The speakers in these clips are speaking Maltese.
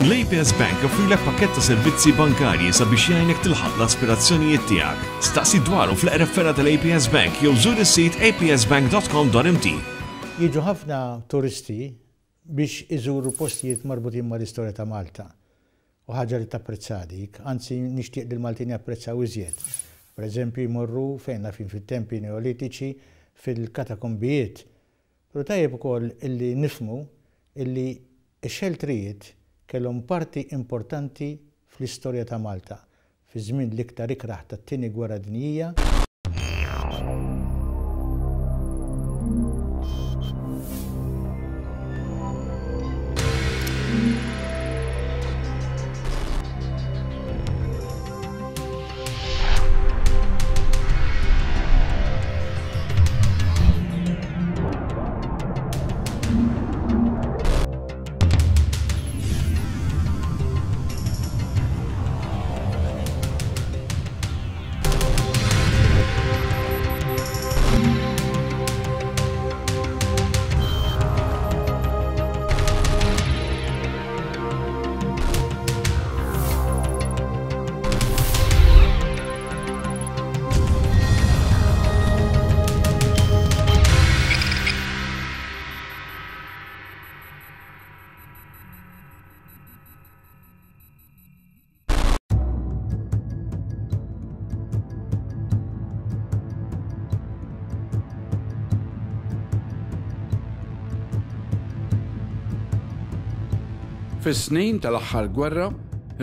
L-APS Bank joffrilek pakkett ta' servizzi bankarji sabiex jgħinek tilħaq l-aspirazzjonijiet tiegħek. Staqsi dwaru fl-eqreb fergħa tal-APS Bank jew żur is-sit apsbank.com.mt. Jiġu ħafna turisti biex iżuru postijiet marbutin mal-istorja ta' Malta. U ħaġa li tapprezzaha dik, anzi nixtieq li l-Maltin japprezzaw iżjed. Per eżempju jmorru fejn naf jien fit-tempji Neolitiċi, fil-katakombijiet. Però tajjeb ukoll illi nifhmu illi x-xeltrijiet kellhom parti importanti fl-istorja ta' Malta fiż-żmien l-iktar ikrah tat-Tieni Gwerra Dinjija. Fis-snin tal-aħħar gwerra,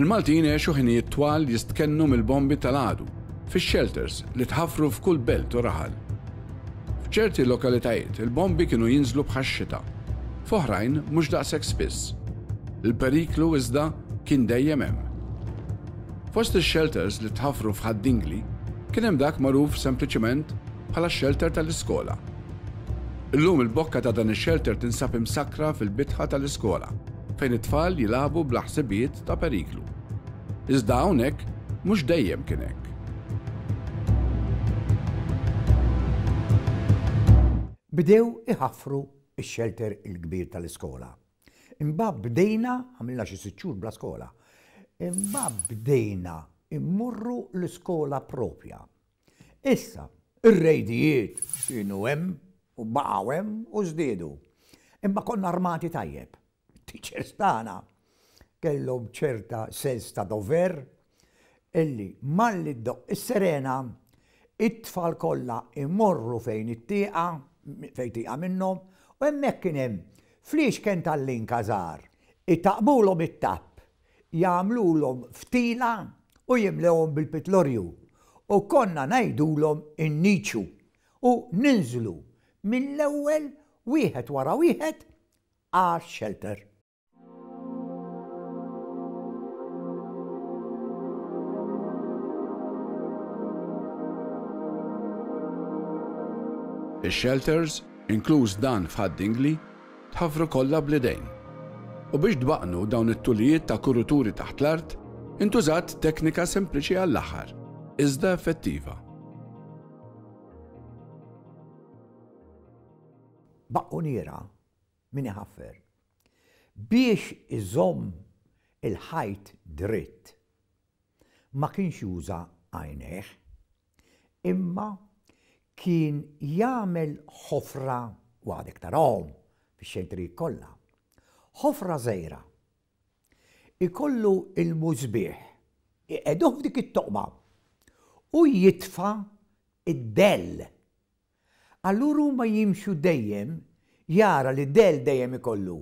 il-Maltin għexu ħinijiet twal jistkennu mill-bombi tal-għadu fix-xelters li tħaffru f'kull belt u raħal. F'ċerti lokalitajiet il-bombi kienu jinżlu bħax-xita, f'oħrajn mhux daqshekk spiss. Il-periklu iżda kien dejjem hemm. Fost ix-xelters li tħaffru f'Ħad-Dingli kien hemm dak magħruf sempliċement bħala x-xelter tal-iskola. Illum il-bokka ta' dan ix-xelter tinsab imsakkra fil-bitħa tal-iskola fejn it-tfal jilagħbu bla ħsibijiet ta' periklu. Iżda hawnhekk mhux dejjem kien hekk. Bdew iħaffru x-xelter il-kbir tal-iskola. Imbagħad bdejna, għamilna xi sitt xhur bla skola, imbagħad bdejna immorru l-iskola propja. Issa, ir-rejdijiet kienu hemm u baqgħu hemm u żdiedu. Imma konna armati tajjeb. It-teachers tagħna kellhom ċerta sens ta' dover illi malli ddoqq is-sirena, it-tfal kollha jmorru fejn it-tieqa, fejn tieqa minnhom, u hemmhekk kien hemm fliexken tal-linka żgħar, itaqqbulhom it-tapp, jagħmlulhom ftila u jimlewhom bil-pitlorju u konna ngħidulhom inniċu u ninżlu mill-ewwel wieħed wara wieħed għax-xelter. Ix-xelters, inkluż dan f'Ħad-Dingli, tħaffru kollha bl-idejn. U biex tbaqqnu dawn it-tulijiet ta' kuruturi taħt l-art, intużat teknika sempliċi għall-aħħar, iżda effettiva. Baqquniera min iħaffer biex iżomm il-ħajt dritt ma kienx juża għajnejh imma kien jagħmel ħofra u għadek tarahom fix-xejtrijiet kollha, ħofra żgħira. Ikollu l-musbieħ iqegħduh f'dik it-toqba u jitfa' d-dell Allura huma jimxu dejjem jara li Dell dejjem ikollu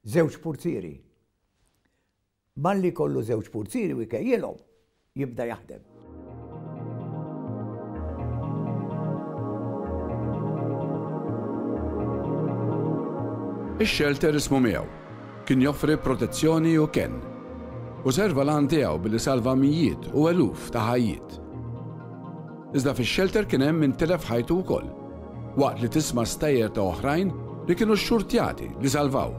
żewġ purtieri. Malli jkollu żewġ purtieri u jkejjilhom, jibda jaħdem. Ix-xelter ismu miegħu. Kien joffri protezzjoni u kenn. U serva l-għan tiegħu billi salva mijiet u eluf ta' ħajjiet. Iżda fix-xelter kien hemm min tilef ħajtu wkoll, waqt li tisma' stejjer ta' oħrajn li kienu xxurtjati li salvaw.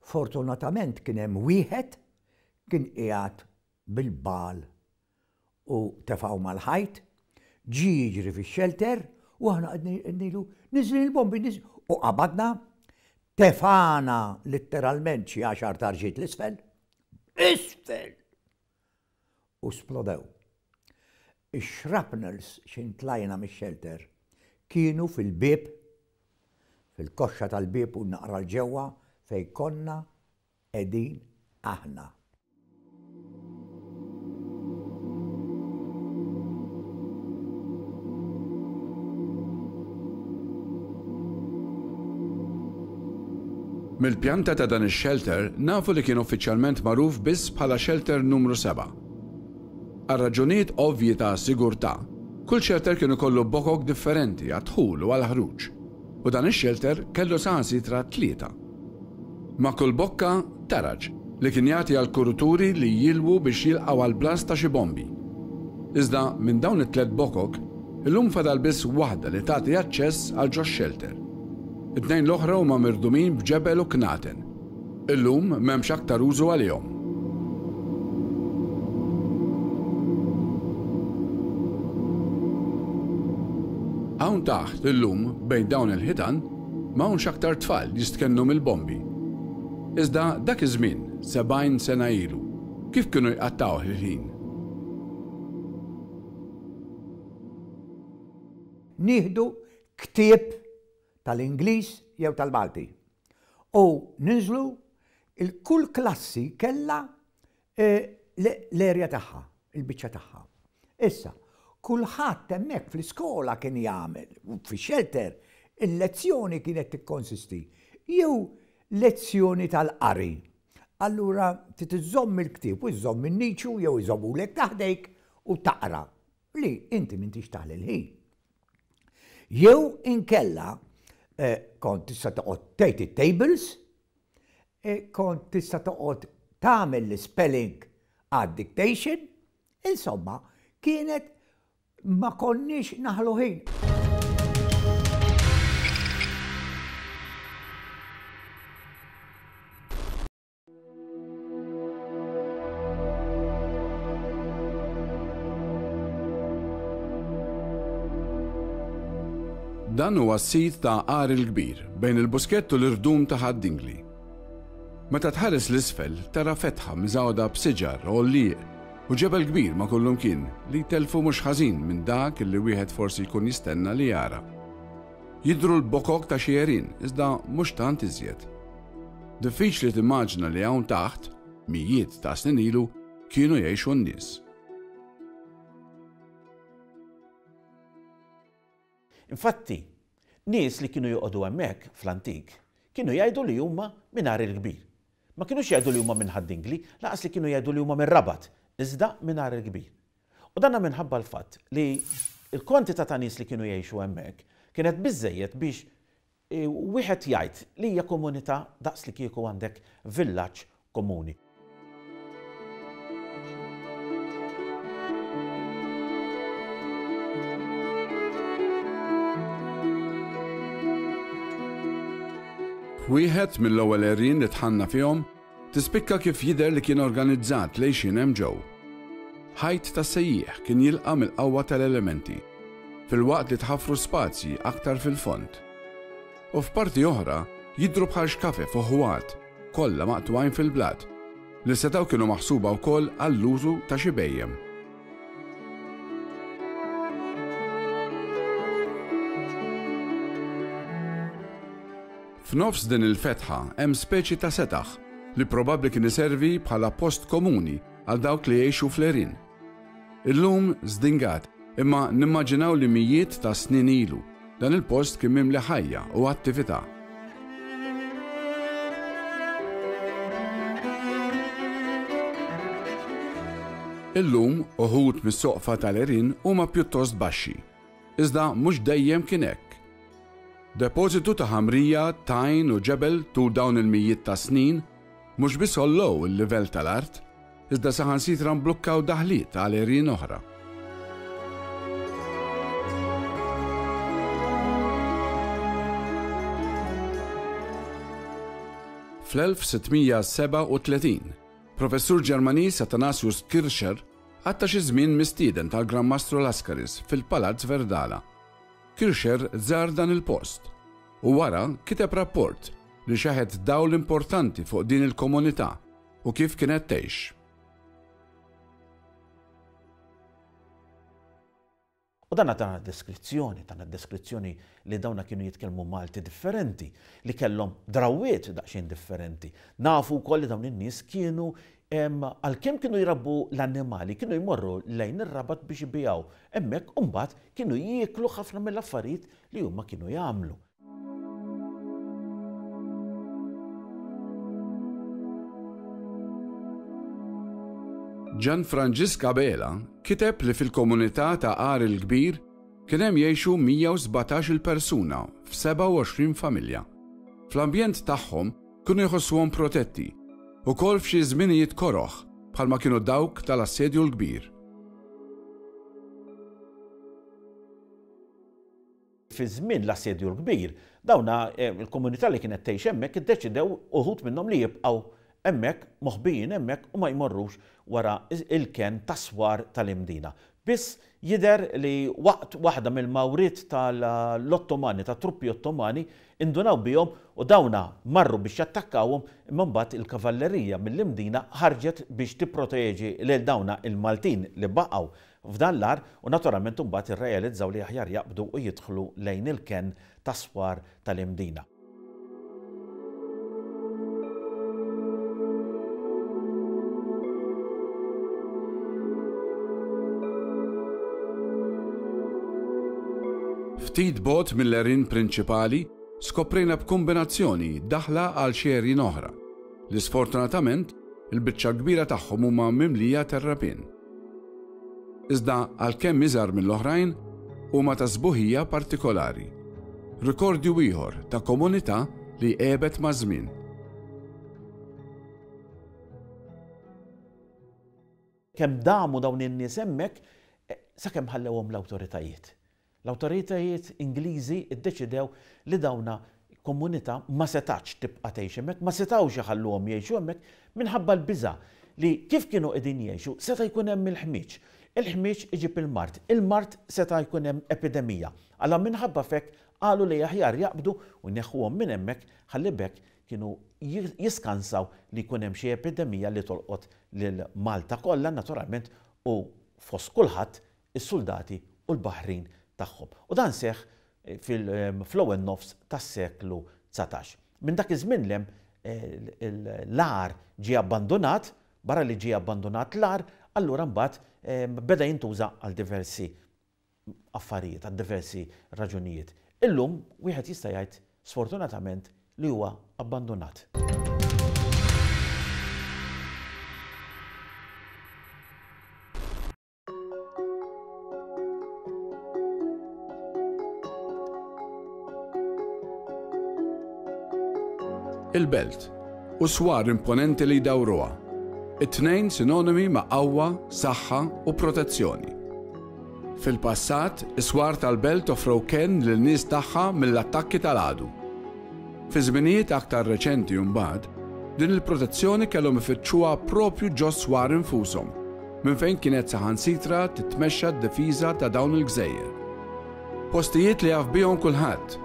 Fortunatament kien hemm wieħed kien qiegħed bil-bagħal u tefgħu mal-ħajt, ġie jiġri fix-xelter u aħna qed ngħidlu niżlin il-bombi, u qabadna. Tefagħna litteralment xi għaxar tarġiet 'l isfel. Isfel! U splodew. Ix-shrapnels xi ntlajna mix-shelter kienu fil-bieb, fil-koxxa tal-bieb u naqra 'l ġewwa fejn konna qegħdin aħna. Mill-pjanta ta' dan ix-xelter nafu li kien uffiċjalment magħruf biss bħala Xelter Numru 7. Għal raġunijiet ovvji ta' sigurtà, kull xelter kien ikollu bokok differenti għad-dħul u għall-ħruġ, u dan ix-xelter kellu saħansitra tlieta. Ma' kull bokka, taraġ, li kien jagħti għall-kuruturi li jilwu biex jilqgħu għall-blast ta' xi bombi. Iżda minn dawn it-tlett bokok, illum fadal biss waħda li tagħti aċċess għal ġox-xelter. It-tnejn l-oħra huma mirdumin b'ġebel u knaten. Illum m'hemmx aktar użu għalihom. Hawn taħt illum, bejn dawn il-ħitan, m'hawnx aktar tfal jistkennu mill-bombi. Iżda dak iż-żmien, 70 sena ilu, kif kienu jqattgħuh il-ħin? Nieħdu ktieb tal-Ingliż jew tal-Malti u ninżlu, kull klassi kellha l-area tagħha, il-biċċa tagħha. Issa, kulħadd hemmhekk fl-iskola kien jagħmel, fix-xelter, il-lezzjoni kienet tikkonsisti jew lezzjoni tal-qari. Allura trid iżżomm il-ktieb u żżomm in-niċu jew iżommulek ta' ħdejk u taqra li inti m'intix taħli l-ħin. Jew inkella kont tista' toqgħod tgħid it-tables, kont tista' toqgħod tagħmel l-ispelling għad-dictation, insomma, kienet ma konniex naħlu ħin. Dan huwa s-sit ta' Għar il-Kbir, bejn il-Buskett u l-irdum ta' Ħad-Dingli. Meta tħares 'l isfel, tara fetħa miżgħuda b'siġar, għollieq, u ġebel kbir ma' kullumkien li jtellfu mhux ħażin minn dak li wieħed forsi jkun jistenna li jara. Jidhru l-bokok ta' xi għerien, iżda mhux tant iżjed. Diffiċli timmaġina li hawn taħt, mijiet ta' snin ilu, kienu jgħixu n-nies. Infatti, nies li kienu joqogħdu hemmhekk fl-antik kienu jgħidu li huma minn Għar il-Kbir. Ma kinux jgħidu li huma minn Ħad-Dingli, lanqas li kienu jgħidu li huma mir-Rabat, iżda minn Għar il-Kbir. U dan minħabba l-fatt li l-kwantità ta' nies li kienu jgħixu hemmhekk kienet biżżejjed biex wieħed jgħid li hija komunità daqs li kieku għandek villaġġ komuni. F'wieħed mill-ewwel għerien li dħalna fihom, tispikka kif jidher li kien organizzat l-għixien hemm ġew. Ħajt tas-sejjieħ kien jilqa' mill-qawwa tal-elementi, filwaqt li tħaffru spazji aktar fil-fond. U f'parti oħra jidhru bħal xkafef u ħwat, kollha maqtugħin fil-blat, li setgħu kienu maħsuba wkoll għall-użu ta' xi bhejjem. F'nofs din il-fetħa hemm speċi ta' setaħ li probabbli kien iservi bħala post komuni għal dawk li jgħixu fl-għerien. Illum żdingat, imma nimmaġinaw li mijiet ta' snin ilu, dan il-post kien mimli ħajja u attività. Illum, uħud mis-soqfa tal-għerien huma pjuttost baxxi. Iżda mhux dejjem kien hekk. Depożitu ta' ħamrija, tajn u ġebel tul dawn il-mijiet ta' snin mhux biss għollew il-livell tal-art, iżda saħansitra mblukkaw daħliet għal għerien oħra. Fl-1637, professur Ġermaniż Athanasius Kircher qatta' xi żmien mistieden tal-Gran Mastru Lascaris fil-Palazz Verdala. Kircher żar dan il-post u wara kiteb rapport. li xeħet dawl importanti fuq din il-komunità u kif kienet tgħix. U dana tana deskrizzjoni, tana deskrizzjoni li dawna kienu jitkellmu Malti differenti, li kellhom drawwiet daqsxejn differenti. Nafu wkoll li dawn in-nies kienu għalkemm kienu jrabbu l-annimali, kienu jmorru lejn ir-Rabat biex ibigħu hemmhekk u mbagħad kienu jieklu ħafna mill-affarijiet li huma kienu jagħmlu. Ġan Franġisk Abela kiteb li fil-komunità ta' Għar il-Kbir kien hemm jgħixu 117-il persuna f'27 familja. Fl-ambjent tagħhom kienu jħossuhom protetti, ukoll f'xi żminijiet koroh bħalma kienu dawk tal-Assedju l-Kbir. Fi żmien l-Assedju l-Kbir, dawna il-komunità li kienet tgħix hemmhekk iddeċidew uħud minnhom li jibqgħu hemmhekk, moħbijin hemmhekk u ma jmorrux wara il-kenn tas-swar tal-Imdina. Biss jidher li waqt waħda mill-mawriet tal-Ottomani, tat-truppi Ottomani, indunaw bihom u dawna marru biex jattakkawhom imma mbagħad il-kavallerija mill-Imdina ħarġet biex tipproteġi lil dawna il-Maltin li baqgħu f'dan l-għar u naturalment imbagħad irrealizzaw li aħjar jaqbdu u jidħlu lejn il-kenn tas-swar tal-Imdina. Ftit bogħod mill-għerien prinċipali skoprejna b'kumbinazzjoni daħla għal xi għerien oħra, li sfortunatament il-biċċa l-kbira tagħhom huma mimlija terrapien. Iżda għalkemm iżgħar mill-oħrajn, huma ta' sbuħija partikolari. Rikordju ieħor ta' komunità li għebet maż-żmien. Kemm damu dawn in-nies hemmhekk sakemm ħallewhom l-awtoritajiet. L-awtoritajiet Ingliżi ddeċidew li dawna komunità ma setgħatx tibqa' tgħix hemmhekk, ma setgħux iħalluhom jgħixu hemmhekk minħabba l-biża' li kif kienu qegħdin jgħixu seta' jkun hemm il-ħmieġ. Il-ħmieġ iġib il-mard, il-mard seta' jkun hemm epidemija. Allura minħabba f'hekk qalu li aħjar jaqbdu u jneħħuhom minn hemmhekk ħalli b'hekk kienu jiskansaw li jkun hemm xi epidemija li tolqot lil Malta kollha naturalment u fost kulħadd is-suldati u l-baħrin tagħhom. U dan seħħ fl-ewwel nofs tas-seklu 19. Minn dak iż-żmien 'l hemm l-għar ġie abbandunat, barra li ġie abbandunat l-għar, allura mbagħad beda jintuża għal diversi affarijiet, għal diversi raġunijiet. Illum wieħed jista' jgħid sfortunatament li huwa abbandunat. Il-belt, u swar imponenti li jdawruha, it-tnejn sinonimi ma' qawwa, saħħa u protezzjoni. Fil-passat, is-swar tal-belt offrew kenn lin-nies tagħha mill-attakki tal-għadu. Fi żminijiet aktar reċenti mbagħad, din il-protezzjoni kellhom ifittxuha proprju ġos-swar infushom. minn fejn kienet saħansitra titmexxa d-difiża ta' dawn il-gżejjer. Postijiet li jaf bihom kulħadd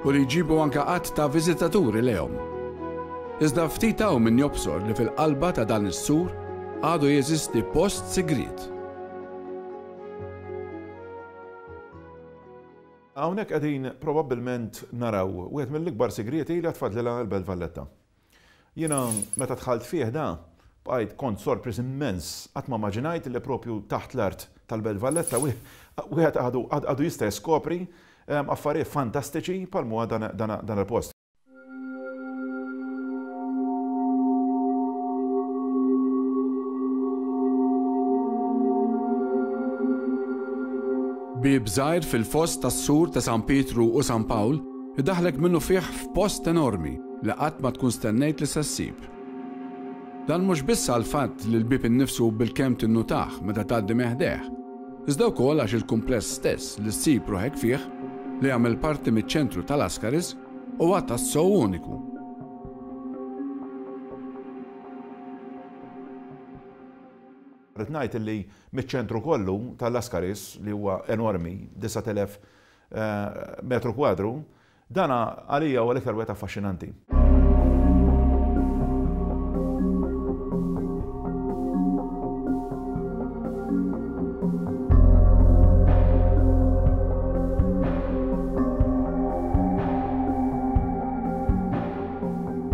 u li jġibu anke għadd ta' viżitaturi lejhom. Iżda ftit hawn min jobsor li fil-qalba ta' dan is-sur għadu jeżisti post sigriet. Hawnhekk qegħdin probabbilment naraw wieħed mill-ikbar sigrieti li għad fadlilha l-Belt Valletta. Jiena meta dħalt fih da, bqajt kont sorpriż immens, qatt ma immaġinajt li propju taħt l-art tal-Belt Valletta wieħed għadu għadu jista' jiskopri affarijiet fantastiċi bħal m'huwa dan il-post. Bieb żgħir fil-foss tas-sur ta' San Pietru u San Pawl idaħħlek minnufih f'post enormi li qatt ma tkun stennejt li se ssib. Dan mhux biss għall-fatt li l-bieb innifsu bilkemm tinnutah meta tgħaddi minn ħdejh, iżda wkoll għax il-kumpless stess li ssib ruħek fih, li jagħmel parti miċ-ċentru ta' Lascaris, huwa tassew uniku. Rrid ngħid li miċ-ċentru kollu ta' Lascaris, li huwa enormi, 9,000 metru kwadru, Dan għalija huwa l-iktar wieħed affaxxinanti.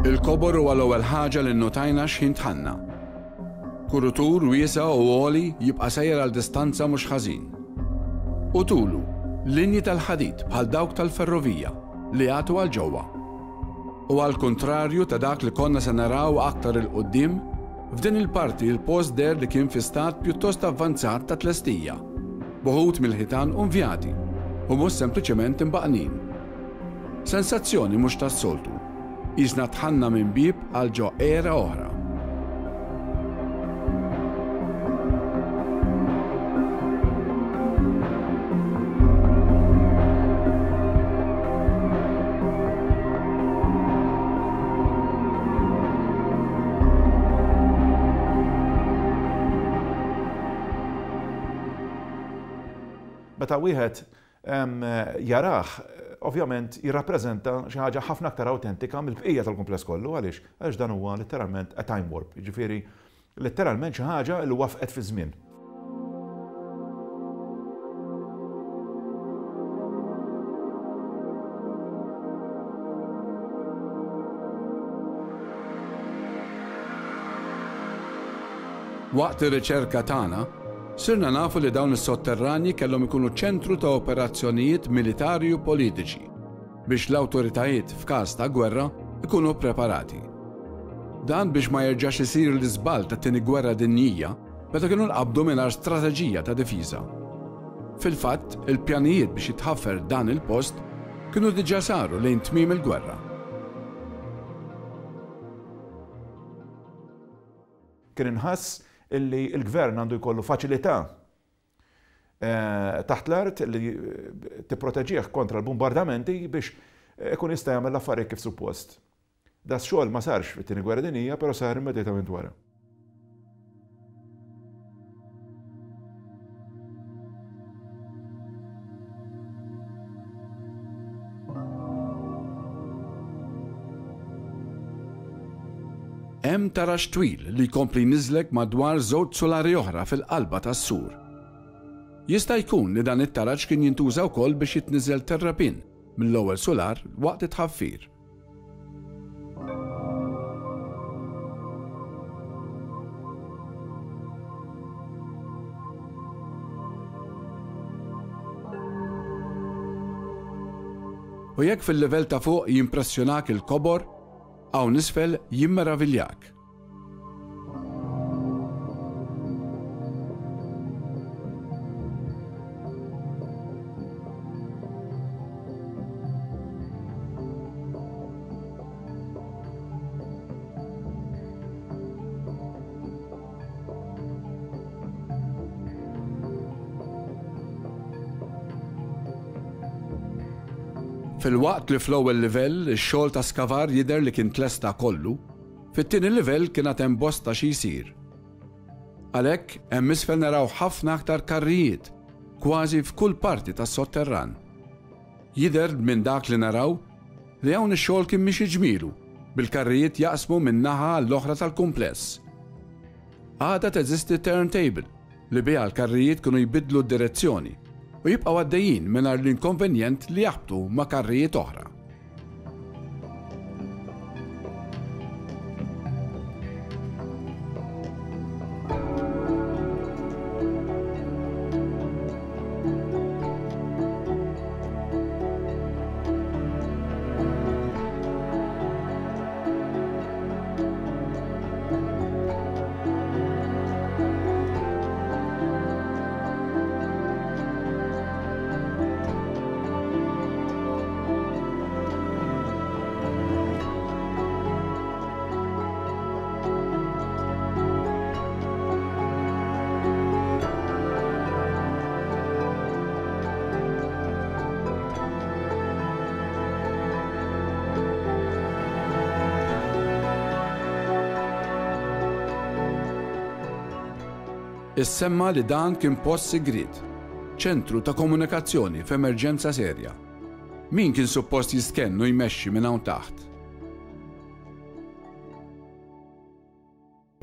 Il-kobor huwa l-ewwel ħaġa li nnotajna x'ħin dħalna. Kurutur wiesa' u għoli jibqa' sejjer għal distanza mhux ħażin. U tulu, linji tal-ħadid bħal dawk tal-ferrovija li jagħtu għal ġewwa. U għall-kuntrarju ta' dak li konna se naraw aktar 'il quddiem, f'din il-parti l-post deher li kien fi stat pjuttost avvanzat ta' tlestija, b'uħud mill-ħitan unvjati u mhux sempliċement imbaqqnin. Sensazzjoni mhux tas-soltu. Qisna dħalna minn bieb għal ġo era oħra. Meta wieħed jarah, ovvjament jirrappreżenta xi ħaġa ħafna aktar awtentika mill-bqija tal-kumpless kollu. Għaliex? Għaliex dan huwa letteralment a time warp, jiġifieri letteralment xi ħaġa li wafqet fiż-żmien. Waqt ir-riċerka tagħna, Sirna nafu li dawn is-sotterranji kellhom ikunu ċentru ta' operazzjonijiet militari u politiċi biex l-awtoritajiet f'każ ta' gwerra ikunu ppreparati. Dan biex ma jerġax isir l-iżball tat-Tieni Gwerra Dinjija meta kienu nqabdu mingħajr strateġija ta' difiża. Fil-fatt, il-pjanijiet biex jitħaffer dan il-post kienu diġà saru lejn tmiem il-gwerra. Kien inħass illi l-Gvern għandu jkollu faċilità taħt l-art li tipproteġih kontra l-bumbardamenti biex ikun jista' jagħmel l-affarijiet kif suppost. Da x-xogħol ma sarx fit-Tieni Gwerra Dinjija, però sar immedjatament wara. Hemm taraġ twil li jkompli jniżżlek madwar żewġ sulari oħra fil-qalba tas-sur. Jista' jkun li dan it-taraġ kien jintuża wkoll biex jitniżżel terrapien mill-ewwel sular waqt it-tħaffir. U jekk fil-livell ta' fuq jimpressjonak il-kobor, hawn isfel jimmeraviljak. Filwaqt li fl-ewwel livell ix-xogħol ta' skavar jidher li kien tlesta kollu, fit-tieni livell kien għad hemm bosta xi jsir. Għalhekk, hemm isfel naraw ħafna aktar karrijiet, kważi f'kull parti tas-sotterran. Jidher minn dak li naraw li hawn ix-xogħol kien miexi ġmielu, bil-karrijiet jaqsmu minn naħa għall-oħra tal-kumpless. Għadha teżisti turntable li biha l-karrijiet kienu jbiddlu d-direzzjoni u jibqgħu għaddejjin mingħajr l-inkonvenjent li jaħbtu ma' karrijiet oħra. Issemma li dan kien post sigriet, ċentru ta' komunikazzjoni f'emerġenza serja. Min kien suppost jistkenn u jmexxi minn hawn taħt?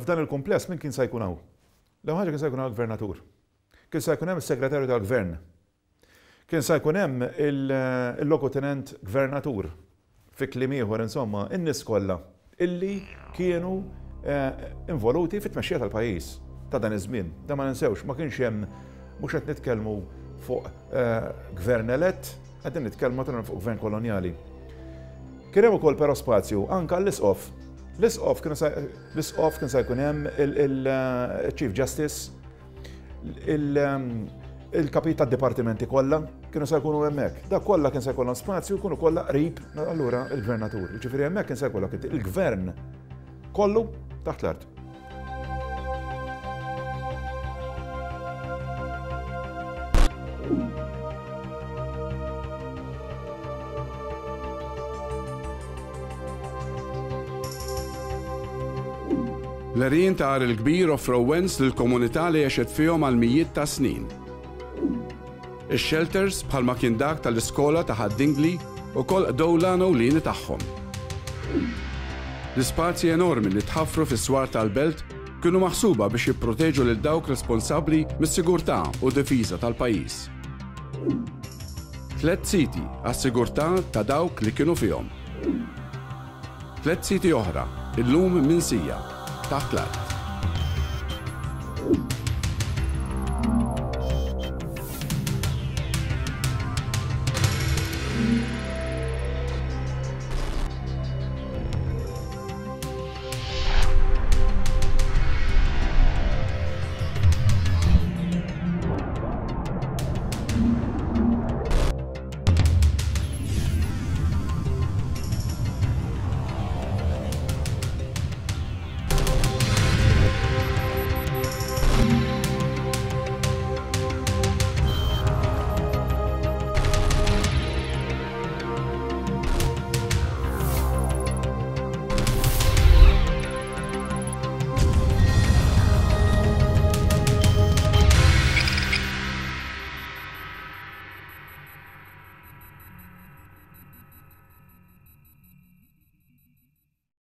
F'dan il-kumpless min kien sa jkun hawn? L-ewwel ħaġa kien sa jkun hawn il-Gvernatur. Kien sa jkun hemm is-Segretarju tal-Gvern. Kien sa jkun hemm il-Logutenent Gvernatur. Fi kliem ieħor, insomma, in-nies kollha illi kienu involuti fit-tmexxija tal-pajjiż ta' dan iż-żmien. Dan ma ninsewx, ma kienx hemm mhux qed nitkellmu fuq gvern elett, qegħdin nitkellmu naturalment fuq gvern kolonjali. Kien hemm ukoll però spazju anke għall-isqof. L-isqof kienu l-isqof kien se jkun hemm il-Chief Justice, il-kapijiet tad-dipartimenti kollha kienu se jkunu hemmhekk. Dak kollha kien se jkollhom spazju jkunu kollha qrib allura il-gvernatur. Jiġifieri hemmhekk kien se jkollok il-gvern kollu taħt l-art. L-għerien ta' Għar il-Kbir offrew wens lill-komunità li għexet fihom għal mijiet ta' snin. Ix-xelters, bħalma kien dak tal-iskola ta' Ħad-Dingli, ukoll qdew l-għan ewlieni tagħhom. L-ispazji enormi li tħaffru fis-swar tal-belt kienu maħsuba biex jipproteġu lil dawk responsabbli mis-sigurtà u difiża tal-pajjiż. Tlett siti għas-sigurtà ta' dawk li kienu fihom. Tlett siti oħra, illum minsija, taħt l-art.